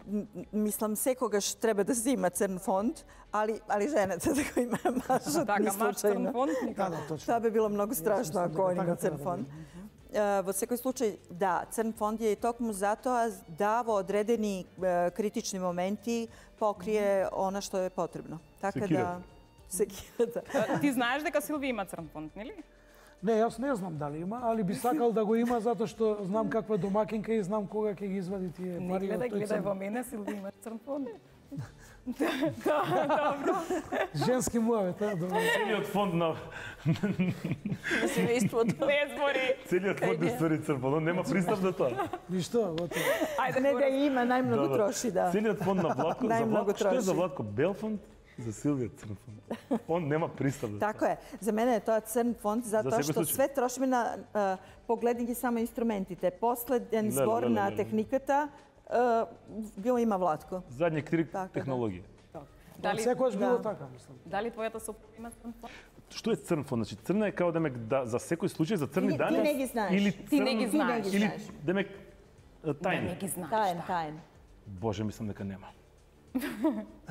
m- mislim, sekogаш treba da si ima crn fond, ali, ali ženata da ga ima mažat, Така, ni маш црн slučajno. фонд Да, никако. да, точно. To bi bilo mnogo strašno mislim ako da on ga ima tako crn treba fond. Uh, vo sekoj slučaj, da, crn fond je i tokmu zato da vo odredeni uh, kritični momenti pokrije ono što je potrebno. Tako Sekira. da... Sekira, da. Ти знаеш дека Силви има црн фонд, нели? Не, јас не знам дали има, али би сакал да го има затоа што знам каква е домакинка и знам кога ќе ги извади тие Не пари од гледај, тој гледај во црн. мене, Силви има црн фонд. Женски муавет, а, добро. Целиот фонд на Семејството. Не збори. целиот фонд е ствари црпано, нема пристап до тоа. Ништо, готово. Ајде, Ne ga Борис. ima, najmnogo Добро. troši, da. Целиот фонд на Владко, за Најмногу Владко, што е за троши. Владко Бел фонд, за Силвија црн фонд. Он нема пристап до тоа. Tako je. Za mene je to crn fond zato sekoj što slučaj. sve trošimo na uh, pogledanje samo instrumentite. Последен Леле, збор леле, на леле. техниката uh, го има Владко. Задниот крик Така, да. технологија. Дали, Секојаш било Да. така, мислам. дали твојата сопруга има црн фонд? Што е црн фонд? Значи црна е као демек да за секој случај за црни Ти- ти дани не ги знаеш. или Ти не ги црн- знаеш. или знаеш. демек Не, тајни. не ги знаеш. Tajen, да. tajen. Боже, мислам дека нема.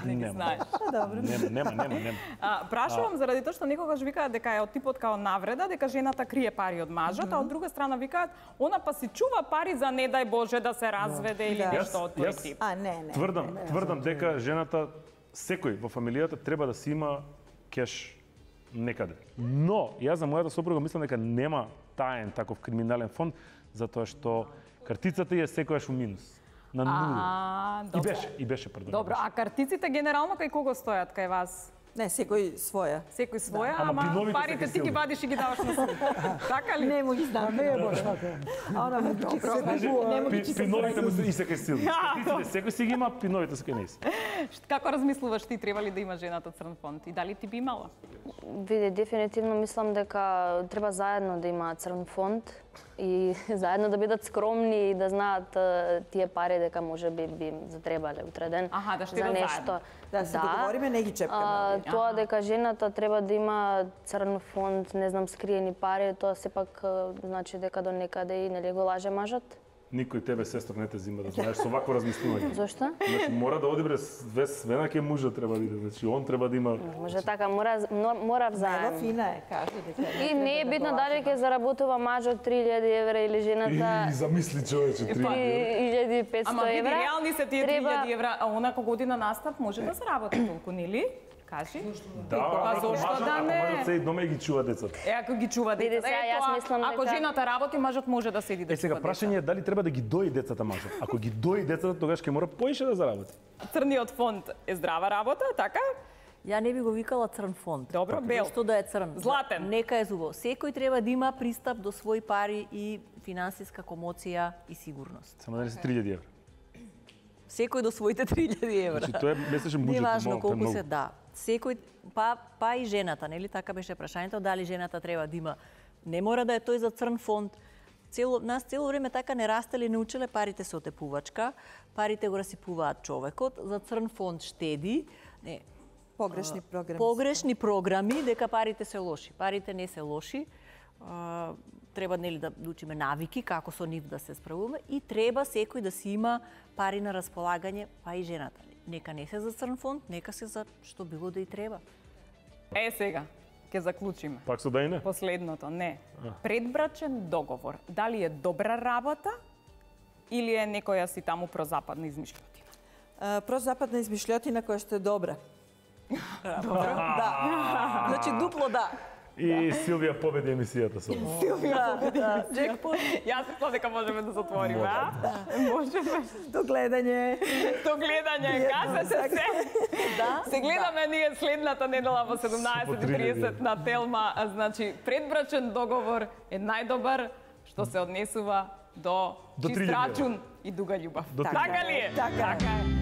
Не ги Нема. знаеш. Dobro. Нема, нема, нема, нема. А, прашувам заради тоа што некогаш викаат дека е од типот као навреда, дека жената крие пари од мажот, а од друга страна викаат она па си чува пари за не дај Боже да се разведе или Да. нешто од тој Јас- тип. A ne, ne. Тврдам, тврдам дека жената секој во фамилијата треба да си има кеш некаде. Но јас за мојата сопруга мислам дека нема таен таков криминален фонд затоа што картицата ја е секојаш у минус. На нула. А, И добро. беше, и беше, пардон. Добро, а картиците генерално кај кого стојат кај вас? Ne, sekoj svoja. Секој своја, Ама ама пиновите парите се ти ги силни. вадиш и ги даваш на суд. Така ли? Ne mogu А znam. не е баш така. Ona mu će se ne mogu Пи, će se пиновите му се и секој сили. А, Картиците секој си ги има, пиновите секој не си. Како размислуваш ти треба ли да има жената црн фонд и дали ти би имала? Види, дефинитивно мислам дека треба заедно да имаат црн фонд и заедно да бидат скромни и да знаат е, тие пари дека може би би им затребале утре ден Аха, да за штедат нешто. заедно. Da se dogovorime, ne ги čepkamo. А, ali. тоа дека жената треба да има црн фонд, не знам, скриени пари, тоа сепак е, значи дека до некаде и нели го лаже мажот. Никој тебе сестра не те зима да знаеш со вакво размислување. Зошто? Значи мора да одибре све свена ке мужа треба да иде. Значи он треба да има Може така, мора но- мора Evo, взаемно. fina je, kaže da treba. И не е битно дали ќе заработува мажот три илјади евра или жената И замисли човече три. три илјади и петсто Ама види, евра. реални се тие три Треба- илјади евра, а онака година настап може да заработи толку, нели? Кажи. Да, Па ако зошто мажот, да ако не? мажот седи дома и ги чува децата. Е, ако ги чува Биде децата, сега, е јас тоа. мислам Ако дека- жената работи, мажот може да седи да Е, сега чува прашање е дали треба да ги дои децата мажот. Ако ги дои децата, тогаш ќе мора поише да заработи. Црниот фонд е здрава работа, така? Ја не би го викала црн фонд. Добро, бел. Зошто да е црн? Златен. Нека е зубаво. Секој треба да има пристап до своји пари и финансиска комоција и сигурност. Само да не се три илјади евра. Секој до своите три илјади евра. Значи тоа е месечен буџет. Не важно малку, колку многу. се, да. Секој, па, па и жената, нели? Така беше прашањето, дали жената треба да има. Не мора да е тој за црн фонд. Цело, нас цело време така не растеле, не учеле, парите се отепувачка, парите го расипуваат човекот, за црн фонд штеди. Не, Погрешни програми. погрешни програми дека парите се лоши. Парите не се лоши. А, треба нели да учиме навики како со нив да се справуваме и треба секој да си има пари на располагање, па и жената. Нека не се за црн фонд, нека се за што било да и треба. Е, сега, ќе заклучиме. Пак со да и не? Последното, не. Предбрачен договор. Дали е добра работа или е некоја си таму прозападна измишлјотина? А, прозападна измишлјотина која што е добра. Добра? Да. Значи дупло да. И Силвија победи емисијата со ова. Да, джекпот. Јас мислам дека можеме да затвориме, а? Можеме. До гледање. До гледање, кажете се. Да. Се гледаме ние следната недела во седумнаесет и тридесет на Телма. А, значи, предбрачен договор е најдобар што се однесува до, До чист три илјади. рачун и дуга љубов. До три Така ли е? Така е. е.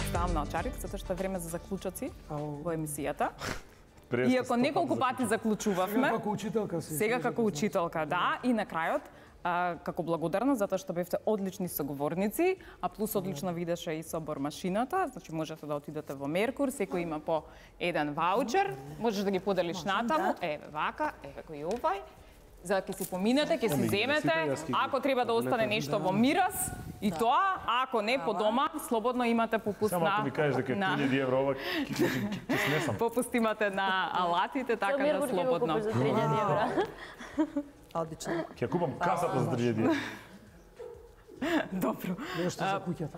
Ставам на очарик, затоа што е време за заклучоци Ау. во емисијата. Преска Иако сто неколку пати пати заклучувавме, Како учителка си. сега како учителка, да, и на крајот, а, како благодарна затоа што бевте одлични соговорници, а плюс одлично видеше и собор машината, значи можете да отидете во Меркур, секој има по еден ваучер, можеш да ги поделиш натаму, еве вака, еве го и овај, за да ќе си поминете, ќе си земете, ако треба да остане нешто во мирас, и тоа, а ако не по дома, слободно имате попуст Само ако на ми кажеш дека е на- три илјади евра ова, ќе ќе- ќе снесам. попуст имате на алатите, така да Миргур ќе го слободно. купиш за три илјади евра. Одлично. Ќе купам касата за три илјади евра. Добро. Нешто за куќата.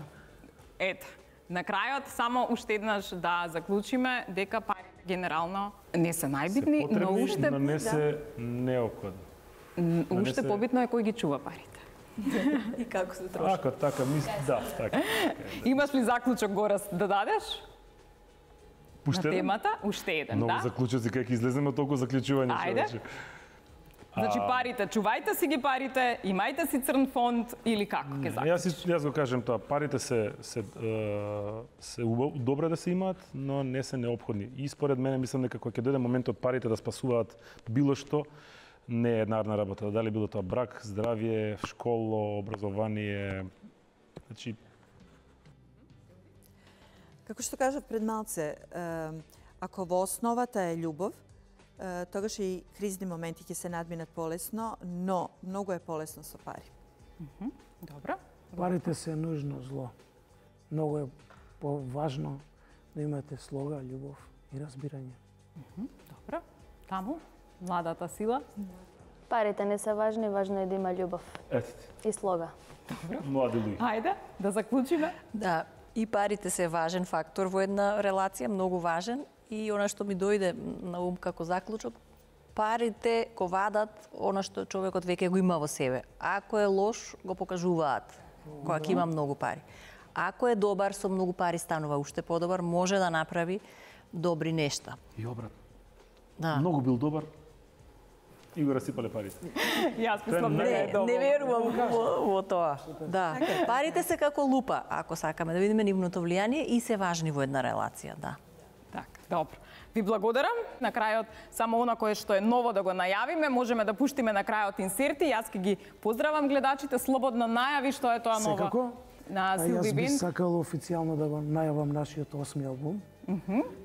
Ето, на крајот само уште еднаш да заклучиме дека парите генерално не се најбитни, но Потребни, уште но не се неопходни. м, не уште се- побитно е кој ги чува парите. И како се троши. Така, така, мис... да, така. Имаш ли заклучок Горас да дадеш на Пуште еден? темата? Уште еден, Многу да? заклучоци, кај ќе излеземе од толку заклучување. Ајде. човече. Значи парите, чувајте си ги парите, имајте си црн фонд или како ќе Јас, заклучиш? си- јас го кажем тоа, парите се се е, се убав, добре да се имаат, но не се неопходни. И според мене мислам дека кога ќе дојде моментот парите да спасуваат било што, не е еднарна работа. Дали било тоа брак, здравје, школа, образование. Значи, Како што кажав пред малце, е, ако во основата е љубов, е, тогаш и кризни моменти ќе се надминат полесно, но многу е полесно со пари. Добро. Парите се нужно зло. Многу е поважно да имате слога, љубов и разбирање. Добро. Таму, младата сила. Парите не се важни, важно е да има љубов ете ти, и слога. млади луѓе. Ајде, да заклучиме. Да, и парите се важен фактор во една релација, многу важен. И она што ми дојде на ум како заклучок, парите го вадат она што човекот веќе го има во себе. Ако е лош, го покажуваат кога ќе има многу пари. Ако е добар, со многу пари станува уште подобар, може да направи добри нешта. И обратно. Да. Многу бил добар и го расипале парите. Јас мислам дека е Не, добро. не верувам во, во тоа. Да. Парите се како лупа, ако сакаме да видиме нивното влијание и се важни во една релација, да. Така, добро. Ви благодарам. На крајот, само она кое што е ново да го најавиме, можеме да пуштиме на крајот инсерти. Јас ќе ги поздравам гледачите, слободно најави што е тоа ново. Секако. На А јас Силви би Бин. сакал официјално да го најавам нашиот осми албум.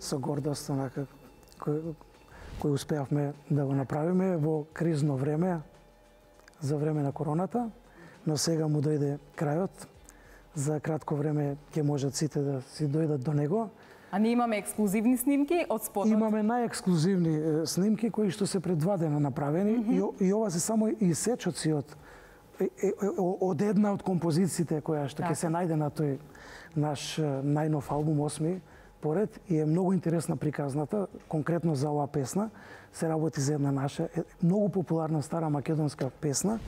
Со гордост, онака, кој, кој успеавме да го направиме во кризно време, за време на короната, но сега му дојде крајот. За кратко време ќе можат сите да си дојдат до него, А ние имаме ексклузивни снимки од спотот. Имаме најексклузивни снимки кои што се пред два дена направени mm -hmm. и, и ова се само исечоци од од една од композициите која што ќе се најде на тој наш најнов албум осми поред и е многу интересна приказната, конкретно за оваа песна се работи за една наша многу популарна стара македонска песна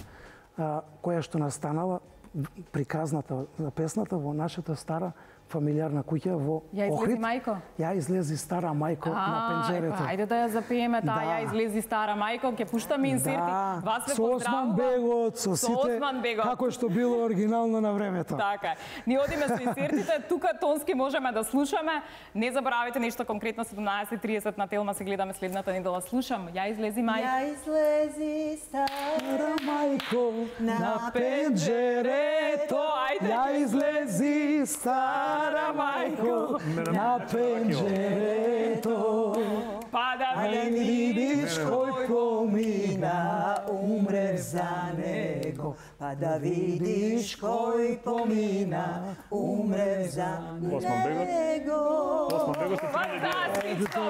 која што настанала приказната на песната во нашата стара фамилиарна куќа во Ја излези Охрид. мајко? Ја излези стара мајко а, на пенџерето. Епа, ајде да ја запееме таа, ја излези стара мајко, ќе пуштаме инсерти. Да, Вас ве со Осман Бегот, со Со сите, Осман Бегот. како што било оригинално на времето. Така. Ние одиме со инсертите, тука тонски можеме да слушаме. Не заборавајте нешто конкретно седумнаесет и тридесет на Телма се гледаме следната недела. Слушам, ја излези мајко. Ја излези стара мајко на пенџерето. Ајде. Ја излези стара мајко на пенџерето. Па да Ајде видиш кој помина, умре за него. Па да видиш кој помина, умре за Осман Бегот. него. Осман Бегот се Фантастично!